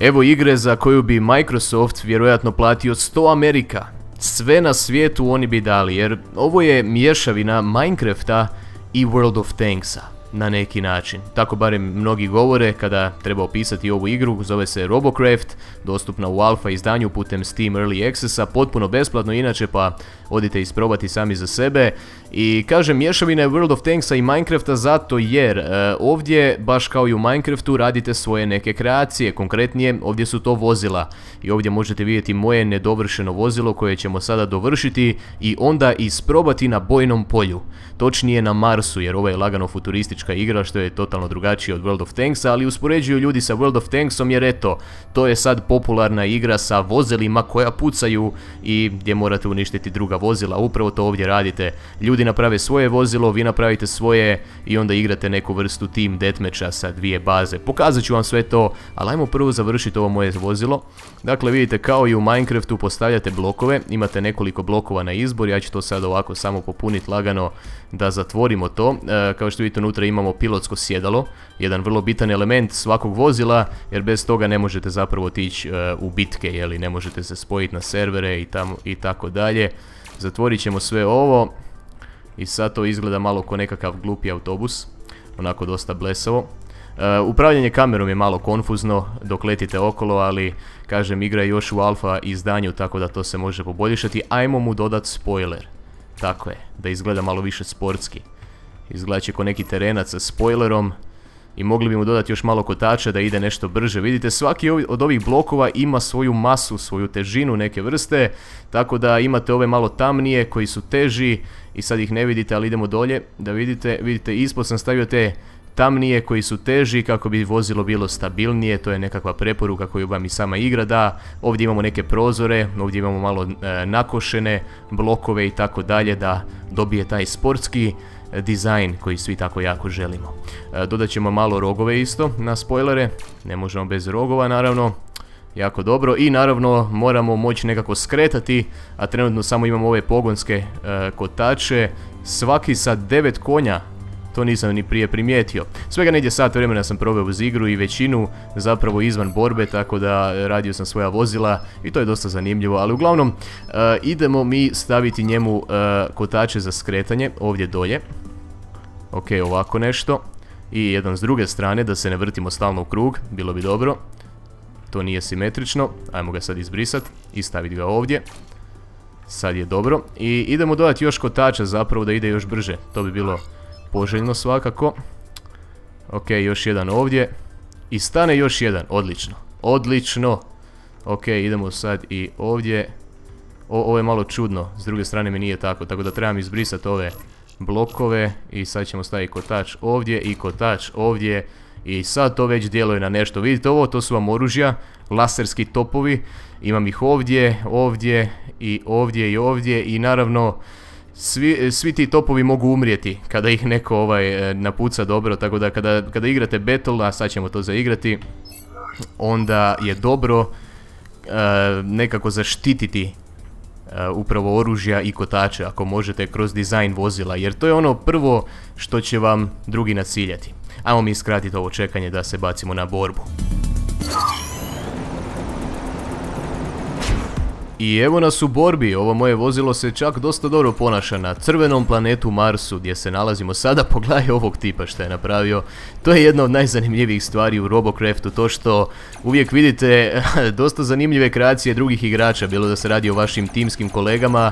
Evo igre za koju bi Microsoft vjerojatno platio 100 Amerika. Sve na svijetu oni bi dali, jer ovo je mješavina Minecrafta i World of Tanksa. Na neki način. Tako barem mnogi govore kada treba opisati ovu igru. Zove se Robocraft, dostupna u alfa izdanju putem Steam Early Accessa, potpuno besplatno inače, pa odite isprobati sami za sebe. I kažem, mješavina je World of Tanksa i Minecrafta zato jer ovdje, baš kao i u Minecraftu, radite svoje neke kreacije. Konkretnije, ovdje su to vozila. I ovdje možete vidjeti moje nedovršeno vozilo koje ćemo sada dovršiti i onda isprobati na bojnom polju. Točnije na Marsu, jer ovo je lagano futuristička igra što je totalno drugačije od World of Tanksa, ali uspoređuju ljudi sa World of Tanksom jer eto, to je sad popularna igra sa vozilima koja pucaju i gdje morate uništiti druga vozila. Upravo to ovdje radite. Ljudi naprave svoje vozilo, vi napravite svoje i onda igrate neku vrstu team deathmatcha sa dvije baze. Pokazat ću vam sve to, ali ajmo prvo završiti ovo moje vozilo. Dakle, vidite, kao i u Minecraftu postavljate blokove, imate nekoliko blokova na izbor, ja ću to sad ovako samo popuniti lagano da zatvorimo to. Kao što vidite, unutra imamo pilotsko sjedalo, jedan vrlo bitan element svakog vozila, jer bez toga ne možete zapravo otići u bitke, jeli, ne možete se spojiti na servere i tako dalje. Zatvorit ćemo sve ovo i sad to izgleda malo kao nekakav glupi autobus, onako dosta blesavo. Upravljanje kamerom je malo konfuzno dok letite okolo, ali kažem, igra je još u alfa izdanju, tako da to se može poboljšati. Ajmo mu dodati spoiler. Tako je, da izgleda malo više sportski. Izgleda će ko neki terenac sa spoilerom i mogli bi mu dodati još malo kotača da ide nešto brže. Vidite, svaki od ovih blokova ima svoju masu, svoju težinu neke vrste, tako da imate ove malo tamnije koji su teži i sad ih ne vidite, ali idemo dolje da vidite. Vidite, ispod sam stavio te tamnije koji su teži kako bi vozilo bilo stabilnije, to je nekakva preporuka koju vam i sama igra da. Ovdje imamo neke prozore, ovdje imamo malo nakošene blokove i tako dalje da dobije taj sportski dizajn koji svi tako jako želimo. Dodat ćemo malo rogove isto na spoilere, ne možemo bez rogova naravno. Jako dobro, i naravno moramo moći nekako skretati, a trenutno samo imamo ove pogonske kotače, svaki sa 9 konja. To nisam ni prije primijetio. Svega negdje sat vremena sam proveo uz igru i većinu zapravo izvan borbe, tako da radio sam svoja vozila i to je dosta zanimljivo. Ali uglavnom, idemo mi staviti njemu kotače za skretanje ovdje dolje. Ok, ovako nešto. I jedan s druge strane, da se ne vrtimo stalno u krug, bilo bi dobro. To nije simetrično, ajmo ga sad izbrisati i staviti ga ovdje. Sad je dobro. I idemo dodati još kotača zapravo da ide još brže, to bi bilo poželjno svakako. Ok, još jedan ovdje. I stane još jedan, odlično. Odlično. Ok, idemo sad i ovdje. Ovo je malo čudno, s druge strane mi nije tako, tako da trebam izbrisati ove blokove. I sad ćemo staviti kotač ovdje i kotač ovdje. I sad to već djeluje na nešto. Vidite ovo, to su vam oružja, laserski topovi. Imam ih ovdje, ovdje i ovdje i ovdje i naravno svi ti topovi mogu umrijeti kada ih neko napuca dobro, tako da kada igrate battle, a sad ćemo to zaigrati, onda je dobro nekako zaštititi upravo oružja i kotače ako možete kroz dizajn vozila, jer to je ono prvo što će vam drugi naciljati. Ajmo mi skratiti ovo čekanje da se bacimo na borbu. I evo nas u borbi, ovo moje vozilo se čak dosta dobro ponaša na crvenom planetu Marsu gdje se nalazimo sada. Pogledaj ovog tipa što je napravio, to je jedna od najzanimljivijih stvari u Robocraftu, to što uvijek vidite dosta zanimljive kreacije drugih igrača, bilo da se radi o vašim timskim kolegama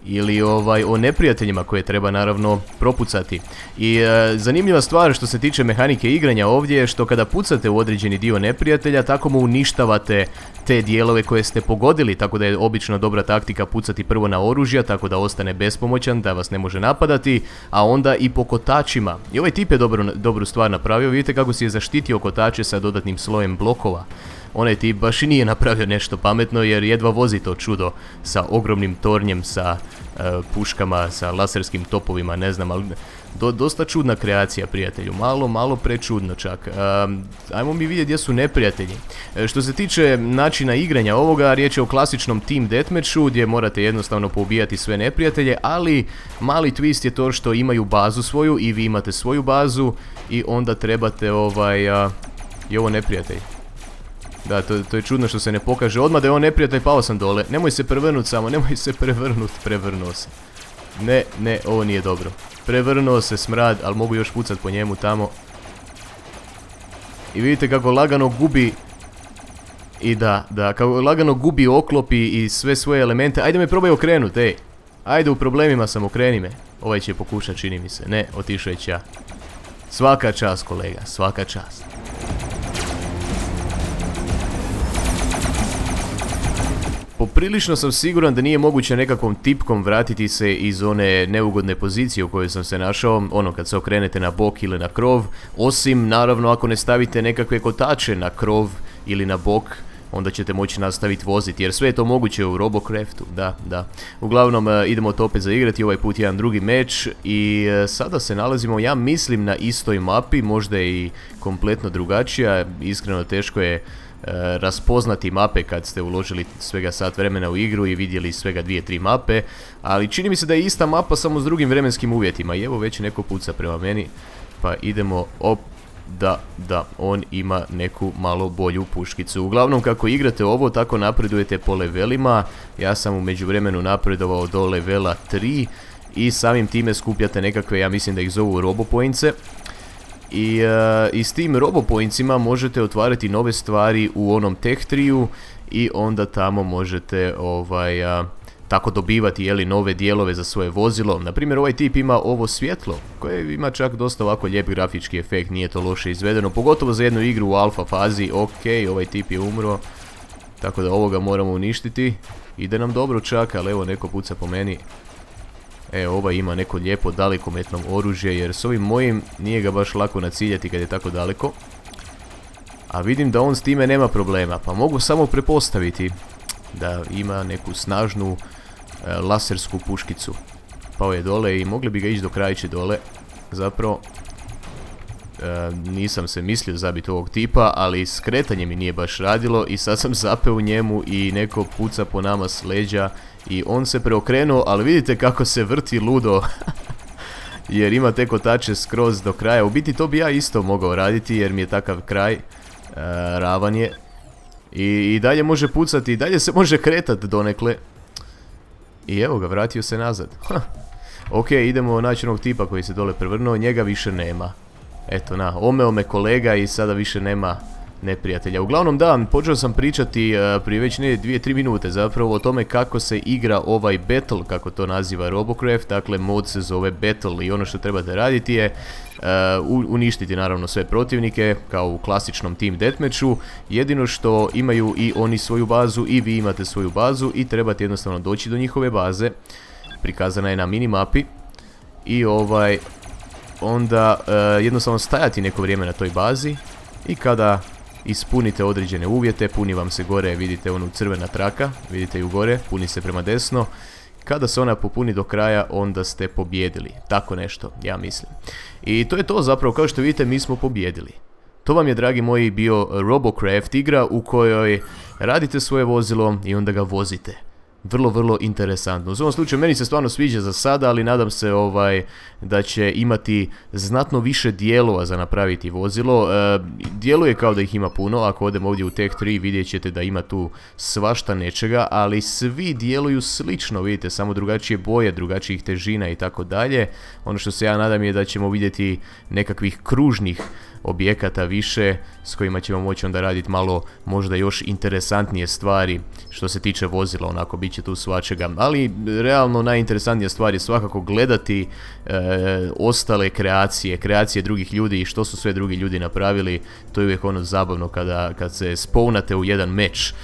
ili o neprijateljima koje treba naravno propucati. I zanimljiva stvar što se tiče mehanike igranja ovdje je što kada pucate u određeni dio neprijatelja, tako mu uništavate te dijelove koje ste pogodili, tako da je obično dobra taktika pucati prvo na oružja, tako da ostane bespomoćan, da vas ne može napadati, a onda i po kotačima. I ovaj tip je dobru stvar napravio, vidite kako si je zaštitio kotače sa dodatnim slojem blokova. Onaj tip baš i nije napravio nešto pametno jer jedva vozi to čudo sa ogromnim tornjem, sa puškama, sa laserskim topovima, ne znam, ali dosta čudna kreacija, prijatelju, malo prečudno čak. Ajmo mi vidjeti gdje su neprijatelji. Što se tiče načina igranja ovoga, riječ je o klasičnom team deathmatchu gdje morate jednostavno poubijati sve neprijatelje, ali mali twist je to što imaju bazu svoju i vi imate svoju bazu i onda trebate i ovo neprijatelj. Da, to je čudno što se ne pokaže. Odmah da je on neprijatelj, pao sam dole. Nemoj se prevrnut samo, nemoj se prevrnut. Prevrnuo se. Ne, ovo nije dobro. Prevrnuo se smrad, ali mogu još pucat po njemu tamo. I vidite kako lagano gubi. I da, kako lagano gubi oklopi i sve svoje elemente. Ajde me probaj okrenut, ej. Ajde, u problemima sam, okreni me. Ovaj će pokušat, čini mi se. Ne, otišao je ća. Svaka čast, kolega, svaka čast. Poprilično sam siguran da nije moguće nekakvom tipkom vratiti se iz one neugodne pozicije u kojoj sam se našao, ono kad se okrenete na bok ili na krov, osim naravno ako ne stavite nekakve kotače na krov ili na bok, onda ćete moći nastaviti voziti, jer sve je to moguće u Robocraftu, da. Uglavnom, idemo to opet zaigrati, ovaj put jedan drugi meč i sada se nalazimo, ja mislim, na istoj mapi, možda je i kompletno drugačija, iskreno teško je raspoznati mape kad ste uložili svega sat vremena u igru i vidjeli svega 2-3 mape, ali čini mi se da je ista mapa samo s drugim vremenskim uvjetima i evo već neko puca prema meni, pa idemo da, on ima neku malo bolju puškicu. Uglavnom, kako igrate ovo, tako napredujete po levelima. Ja sam u međuvremenu napredovao do levela 3 i samim time skupljate nekakve, ja mislim da ih zovu robopointse. I s tim robopointsima možete otvarati nove stvari u onom tech tree-u i onda tamo možete tako dobivati, jeli, nove dijelove za svoje vozilo. Naprimjer, ovaj tip ima ovo svjetlo koje ima čak dosta ovako lijep grafički efekt, nije to loše izvedeno, pogotovo za jednu igru u alfa fazi. Ok, ovaj tip je umro, tako da ovoga moramo uništiti. Ide nam dobro čak, ali evo neko puca po meni. Ovaj ima neko lijepo dalekometno oružje, jer s ovim mojim nije ga baš lako naciljati kad je tako daleko. A vidim da on s time nema problema, pa mogu samo prepostaviti da ima neku snažnu lasersku puškicu. Pao je dole i mogli bi ga ići do krajiće dole. Zapravo, nisam se mislio zabiti ovog tipa, ali skretanje mi nije baš radilo i sad sam zapeo u njemu i neko puca po nama s leđa i on se preokrenuo, ali vidite kako se vrti ludo. Jer ima te kotače skroz do kraja. U biti to bi ja isto mogao raditi jer mi je takav kraj, ravan je. I dalje može pucati, i dalje se može kretati donekle. I evo ga, vratio se nazad. Ok, idemo naći onog tipa koji se dole prevrnuo, njega više nema. Eto omeo me kolega i sada više nema neprijatelja. Uglavnom da, počeo sam pričati prije već 2-3 minute zapravo o tome kako se igra ovaj battle, kako to naziva Robocraft. Dakle, mod se zove battle i ono što trebate raditi je uništiti naravno sve protivnike kao u klasičnom team deathmatchu. Jedino što imaju i oni svoju bazu i vi imate svoju bazu i trebate jednostavno doći do njihove baze. Prikazana je na minimapi i onda jednostavno stajati neko vrijeme na toj bazi i kada ispunite određene uvjete, puni vam se gore, vidite onu crvena traka, vidite ju gore, puni se prema desno. Kada se ona popuni do kraja, onda ste pobjedili. Tako nešto, ja mislim. I to je to zapravo, kao što vidite, mi smo pobjedili. To vam je, dragi moji, bio Robocraft igra u kojoj radite svoje vozilo i onda ga vozite. Vrlo interesantno. U svom slučaju meni se stvarno sviđa za sada, ali nadam se da će imati znatno više dijelova za napraviti vozilo. Djeluje kao da ih ima puno, ako odem ovdje u Tech 3 vidjet ćete da ima tu svašta nečega, ali svi djeluju slično, vidite, samo drugačije boje, drugačijih težina i tako dalje. Ono što se ja nadam je da ćemo vidjeti nekakvih kružnih objekata više s kojima ćemo moći onda raditi malo možda još interesantnije stvari što se tiče vozila, onako bit će tu svačega, ali realno najinteresantnija stvar je svakako gledati ostale kreacije drugih ljudi i što su sve drugi ljudi napravili. To je uvijek ono zabavno kad se spawnate u jedan meč.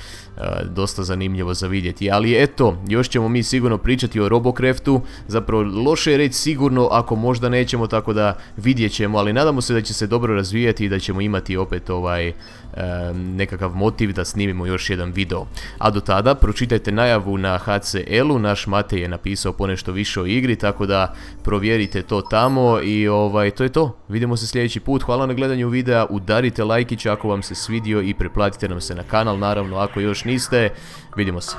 Dosta zanimljivo za vidjeti, ali eto, još ćemo mi sigurno pričati o Robocraftu. Zapravo loše je reći sigurno ako možda nećemo, tako da vidjet ćemo, ali nadamo se da će se dobro razvijati i da ćemo imati opet nekakav motiv da snimimo još jedan video. A do tada pročitajte najavu na HCL-u, naš Matej je napisao ponešto više o igri, tako da provjerite to tamo i to je to. Vidimo se sljedeći put, hvala na gledanju videa, udarite lajkić ako vam se svidio i preplatite nam se na kanal, naravno ako još niste. Vidimo se.